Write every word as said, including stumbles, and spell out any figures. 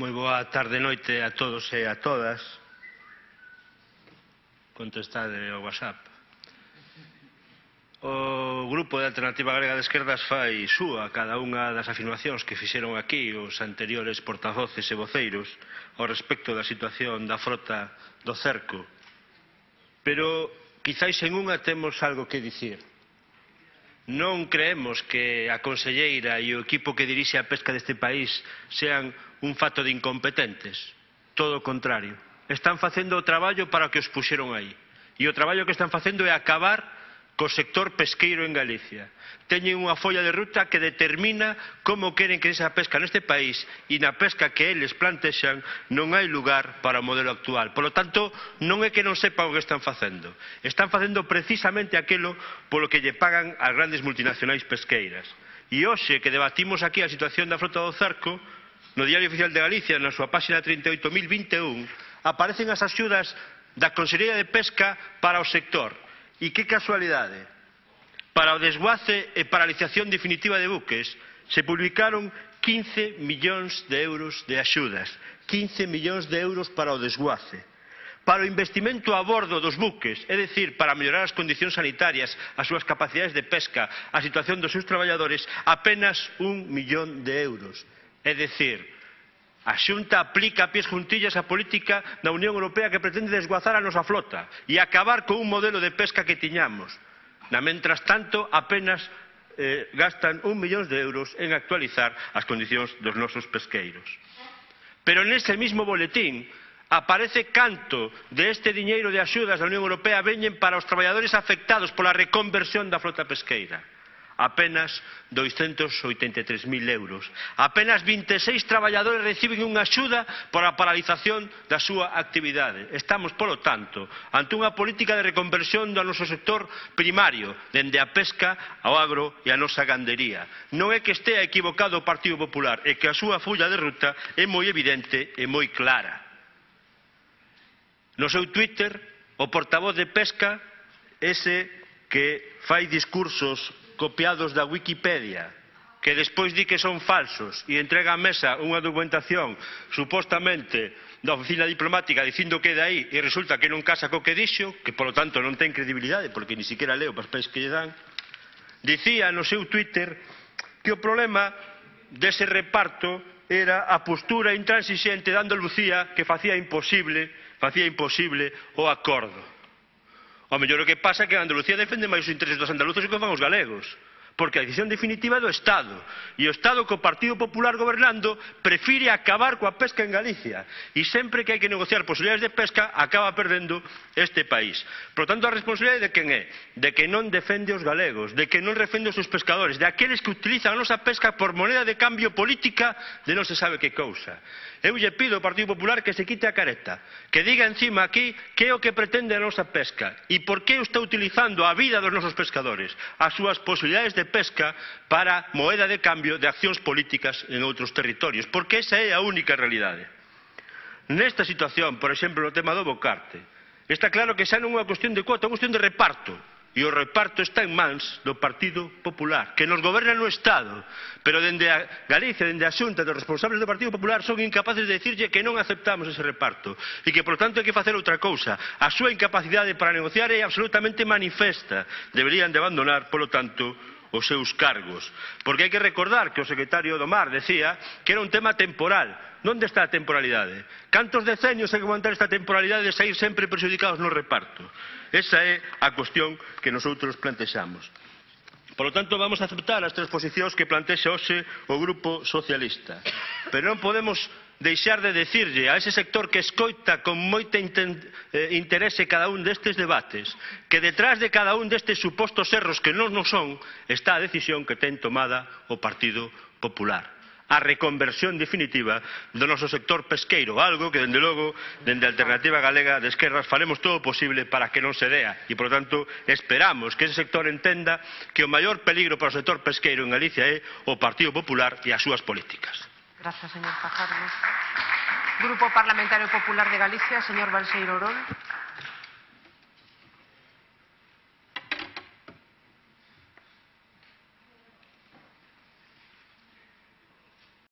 Moi boa tarde e noite a todos e a todas. Contestade ao WhatsApp. O Grupo de Alternativa Galega de Esquerdas fai súa cada unha das afirmacións que fixeron aquí os anteriores portavoces e voceiros ao respecto da situación da frota do cerco. Pero quizáis en unha temos algo que dicir. Non creemos que a conselleira e o equipo que dirixe a pesca deste país sean un fato de incompetentes. Todo o contrario. Están facendo o traballo para o que os puxeron aí. E o traballo que están facendo é acabar co sector pesqueiro en Galicia. Teñen unha folla de ruta que determina como queren que esa pesca neste país, e na pesca que eles plantexan non hai lugar para o modelo actual. Por lo tanto, non é que non sepan o que están facendo. Están facendo precisamente aquilo polo que lle pagan as grandes multinacionais pesqueiras. E hoxe que debatimos aquí a situación da frota do cerco, no Diario Oficial de Galicia, na súa páxina trinta e oito mil vinte e un, aparecen as axudas da Consellería de Pesca para o sector. E que casualidade, para o desguace e paralización definitiva de buques se publicaron quince millóns de euros de axudas, quince millóns de euros para o desguace. Para o investimento a bordo dos buques, é dicir, para mellorar as condicións sanitarias, as súas capacidades de pesca, a situación dos seus traballadores, apenas un millón de euros. É dicir, a Xunta aplica a pies juntillas a política da Unión Europea que pretende desguazar a nosa flota e acabar con un modelo de pesca que tiñamos. Na mentras tanto, apenas eh, gastan un millón de euros en actualizar as condicións dos nosos pesqueiros. Pero nese mismo boletín aparece canto de este diñeiro de axudas da Unión Europea veñen para os traballadores afectados pola reconversión da flota pesqueira. Apenas douscentos oitenta e tres mil euros. Apenas vinte e seis traballadores reciben unha axuda por a paralización da súa actividade. Estamos, polo tanto, ante unha política de reconversión do noso sector primario, dende a pesca ao agro e a nosa gandería. Non é que estea equivocado o Partido Popular, é que a súa folla de ruta é moi evidente e moi clara. No seu Twitter, o portavoz de Pesca, ese que fai discursos copiados da Wikipedia, que despois di que son falsos e entrega á mesa unha documentación supostamente da oficina diplomática dicindo que é de aí e resulta que non casa co que dixo, que polo tanto non ten credibilidade porque ni siquiera leo os papeles que lle dan, dicía no seu Twitter que o problema dese reparto era a postura intransigente de Andalucía que facía imposible, facía imposible o acordo. O mellor o que pasa é que a Andalucía defende máis os intereses dos andaluzos que fan os galegos, porque a decisión definitiva é do Estado, e o Estado co Partido Popular gobernando prefire acabar coa pesca en Galicia, e sempre que hai que negociar posibilidades de pesca acaba perdendo este país. Por tanto, a responsabilidade de quen é? De que non defende os galegos, de que non defende os seus pescadores, de aqueles que utilizan a nosa pesca por moneda de cambio política de non se sabe que cousa. Eu lle pido ao Partido Popular que se quite a careta, que diga encima aquí que é o que pretende a nosa pesca e por que está utilizando a vida dos nosos pescadores, as súas posibilidades de pesca para moeda de cambio de accións políticas en outros territorios, porque esa é a única realidade. Nesta situación, por exemplo, no tema do bocarte, está claro que xa non é unha cuestión de cuota, é unha cuestión de reparto. E o reparto está en mans do Partido Popular, que nos goberna no Estado, pero dende a Galicia, dende a Xunta, dos responsables do Partido Popular son incapaces de dicirlle que non aceptamos ese reparto e que, por tanto, hai que facer outra cousa. A súa incapacidade para negociar é absolutamente manifesta. Deberían de abandonar, polo tanto, os seus cargos. Porque hai que recordar que o secretario do Mar decía que era un tema temporal. Onde está a temporalidade? Cantos decenios hai que aguantar esta temporalidade de sair sempre perjudicados no reparto? Esa é a cuestión que nosotros plantexamos. Por lo tanto, vamos a aceptar as tres posicións que plantexa hoxe o Grupo Socialista. Pero non podemos deixar de decirlle a ese sector que escoita con moito interese cada un destes debates que detrás de cada un destes supostos erros que non nos son está a decisión que ten tomada o Partido Popular. A reconversión definitiva do noso sector pesqueiro, algo que, dende logo, dende a Alternativa Galega de Esquerdas faremos todo o posible para que non se dea e, por tanto, esperamos que ese sector entenda que o maior peligro para o sector pesqueiro en Galicia é o Partido Popular e as súas políticas. Gracias, señor Fajardo. Grupo Parlamentario Popular de Galicia, señor Balseiro Orón.